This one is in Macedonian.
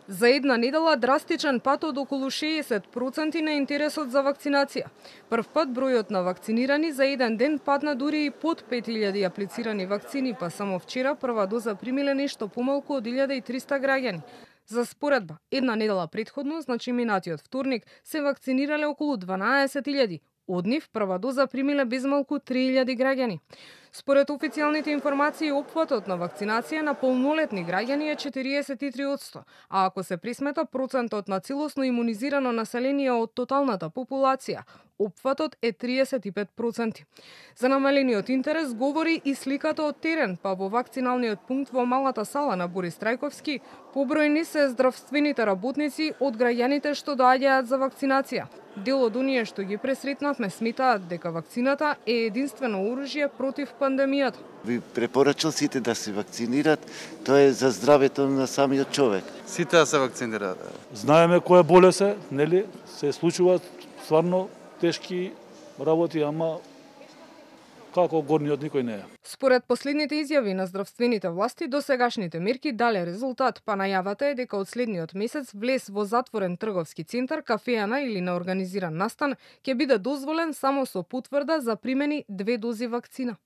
За една недела драстичен пат од околу 60% на интересот за вакцинација. Прв пат бројот на вакцинирани за еден ден падна дури и под 5000 аплицирани вакцини, па само вчера прва доза примиле нешто помалку од 1300 граѓани. За споредба, една недела претходно, значи минатиот вторник, се вакцинирале околу 12000. Од нив прва доза примиле безмалку 3000 граѓани. Според официјалните информации, опфатот на вакцинација на полнолетни граѓани е 43%, а ако се присмета процентот на целосно имунизирано население од тоталната популација, опфатот е 35%. За намалениот интерес говори и сликата од терен, па во вакциналниот пункт во малата сала на Борис Трајковски побројни се здравствените работници од граѓаните што доаѓаат за вакцинација. Дел од оние што ги пресретнавме сметаат дека вакцината е единствено оружје против пандемијата. Би препорачал сите да се вакцинират, тоа е за здравето на самиот човек. Сите да се вакцинираат. Знаеме која болест е, нели? Се случуваат стварно тешки работи, ама како горниот никој не е. Според последните изјави на здравствените власти, досегашните мерки дале резултат, па најавата е дека од следниот месец влез во затворен трговски центар, кафеана или на организиран настан ќе биде дозволен само со потврда за примени 2 дози вакцина.